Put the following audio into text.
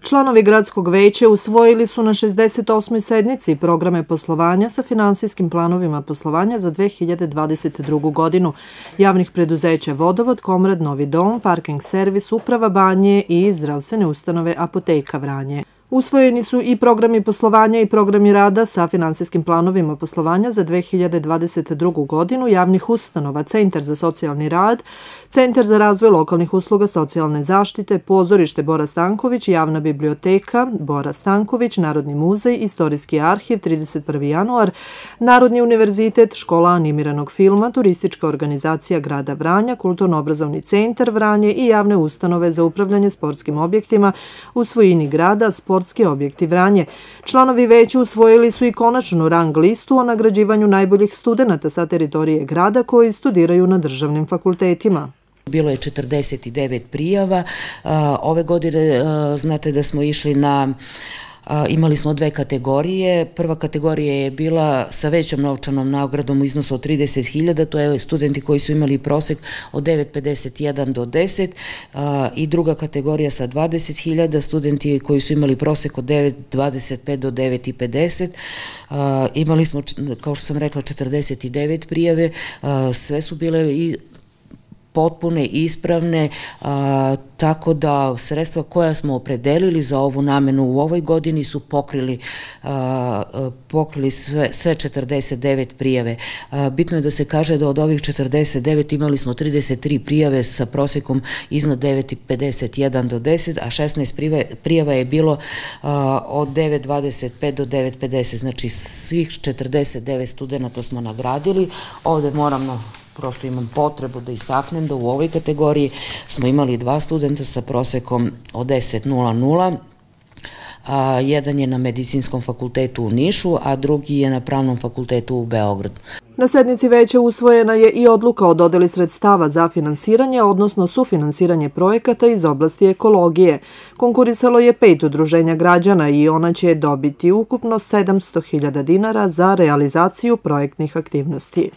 Članovi gradskog veća usvojili su na 68. sednici programe poslovanja sa finansijskim planovima poslovanja za 2022. godinu javnih preduzeća Vodovod, Komrad, Novi dom, Parking servis, Uprava Banje i zdravstvene ustanove Apoteka Vranje. Usvojeni su i programi poslovanja i programi rada sa finansijskim planovima poslovanja za 2022. godinu javnih ustanova, Centar za socijalni rad, Centar za razvoj lokalnih usluga socijalne zaštite, Pozorište Bora Stanković, Javna biblioteka Bora Stanković, Narodni muzej, Istorijski arhiv 31. januar, Narodni univerzitet, Škola animiranog filma, Turistička organizacija grada Vranja, Kulturno-obrazovni centar Vranje i javne ustanove za upravljanje sportskim objektima u svojini grada, Sportski objekti Vranje. Članovi veća usvojili su i konačnu rang listu o nagrađivanju najboljih studenata sa teritorije grada koji studiraju na državnim fakultetima. Bilo je 49 prijava. Ove godine znate da smo išli imali smo dve kategorije. Prva kategorija je bila sa većom novčanom nagradom u iznosu od 30.000, to je studenti koji su imali prosek od 9,51 do 10 i druga kategorija sa 20.000, studenti koji su imali prosek od 9,25 do 9,50. Imali smo, kao što sam rekla, 49 prijave, sve su bile i potpune, ispravne, tako da sredstva koja smo opredelili za ovu namenu u ovoj godini su pokrili sve 49 prijave. Bitno je da se kaže da od ovih 49 imali smo 33 prijave sa prosekom iznad 9,51 do 10, a 16 prijava je bilo od 9,25 do 9,50. Znači svih 49 studenta smo nagradili. Ovde prosto imam potrebu da istaknem da u ovoj kategoriji smo imali 2 studenta sa prosekom od 10,00. Jedan je na Medicinskom fakultetu u Nišu, a drugi je na Pravnom fakultetu u Beogradu. Na sednici veća usvojena je i odluka o dodeli sredstava za finansiranje, odnosno sufinansiranje projekata iz oblasti ekologije. Konkurisalo je 5 udruženja građana i ona će dobiti ukupno 700.000 dinara za realizaciju projektnih aktivnosti.